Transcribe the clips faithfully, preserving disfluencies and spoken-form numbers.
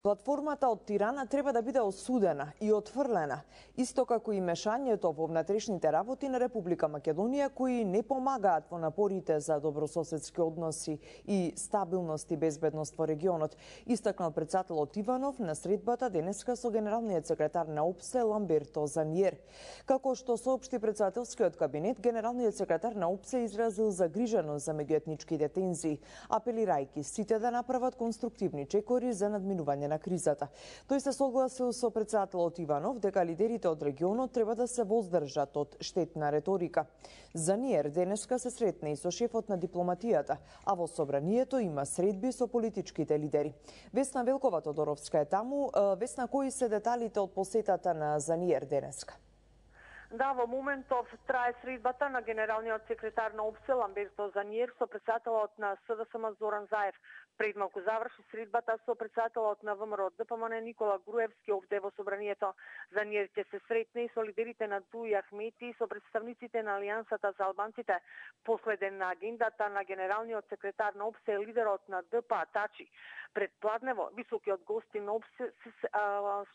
Платформата од Тирана треба да биде осудена и отфрлена, исто како и мешањето во внатрешните работи на Република Македонија, кои не помагаат во напорите за добрососедски односи и стабилност и безбедност во регионот, истакнал претседателот Иванов на средбата денеска со генералниот секретар на ОПСЕ Ламберто Заниер. Како што соопшти претседателскиот кабинет, генералниот секретар на ОПСЕ изразил загриженост за меѓуетничките тензии, апелирајќи сите да направат конструктивни чекори за надминување на кризата. Тој се согласил со претседателот Иванов дека лидерите од регионот треба да се воздржат од штетна реторика. Заниер денеска се сретне и со шефот на дипломатијата, а во собранието има средби со политичките лидери. Весна Велкова Тодоровска е таму. Весна, кои се деталите од посетата на Заниер денеска? Да, во моментов трае средбата на генералниот секретар на ОПСЕ Ламберто Заниер со претседателот на СДСМ Зоран Заев. Пред малку заврши средбата со претседателот на ВМРО ДПМН Никола Груевски овде во собранието. Заниер ќе се сретне и со лидерите на Дуи Ахмети и со представниците на Алијансата за албанците. Последен на агендата на генералниот секретар на ОПСЕ е лидерот на ДПА Тачи. Пред пладнево високиот гости на ОПСЕ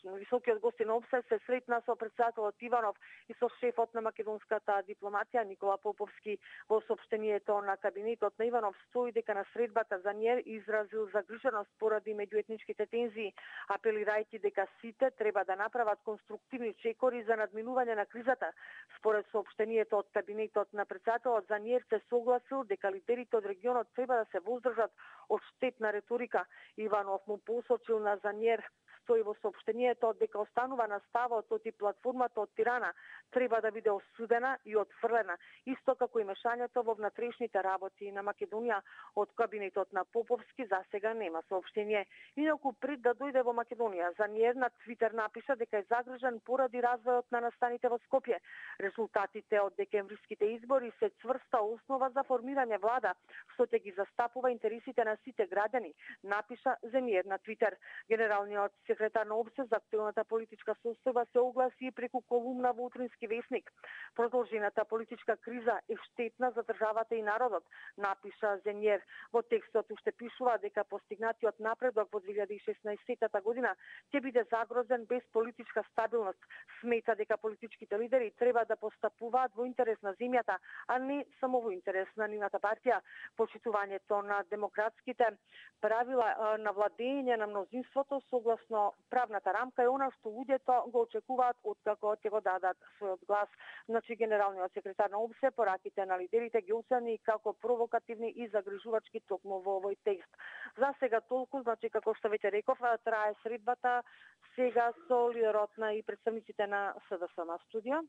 високиот гости на ОПСЕ се сретна со претседателот Иванов и со шефот на македонската дипломатија Никола Поповски. Во соопштението на кабинетот на Иванов стои дека на средбата Заниер изразил загриженост поради меѓуетничките тензии, апелирајќи дека сите треба да направат конструктивни чекори за надминување на кризата. Според соопштението од кабинетот на претседателот, Заниер се согласил дека лидерите од регионот треба да се воздржат од штетна реторика. Иванов му посочил на Заниер, стои во соопштението дека останува на ставот оти платформата од Тирана треба да биде осудена и отфрлена, исто како и мешањето во внатрешните работи на Македонија. Од кабинетот на Поповски за сега нема соопштение. Инаку пред да дојде во Македонија, Заниер на Твитер напиша дека е загрижен поради развојот на настаните во Скопје. Резултатите од декемвриските избори се цврста основа за формирање влада, што ќе ги застапува интересите на сите граѓани, напиша Заниер на Твитер. Генералниот секретар на ОПСЕ за актуелната политичка состојба се огласи преку колумна во Утрински весник. Продолжената политичка криза е штетна за државата и народот, напиша Заниер. Во текстот уште пишува дека постигнатиот напредок во две илјади и шеснаесетта година ќе биде загрозен без политичка стабилност. Смета дека политичките лидери треба да постапуваат во интерес на земјата, а не само во интерес на нивната партија. Почитувањето на демократските правила на владење на мнозинството согласно правната рамка е она што луѓето го очекуваат откако ќе го дадат својот глас. Значи, генералниот секретар на ОПСЕ пораките на лидерите ги оцени како провокативни и загрижувачки токму во овој текст. За сега толку, значи како што веќе реков, трае средбата сега со лидерот на и представниците на СДСМ студио.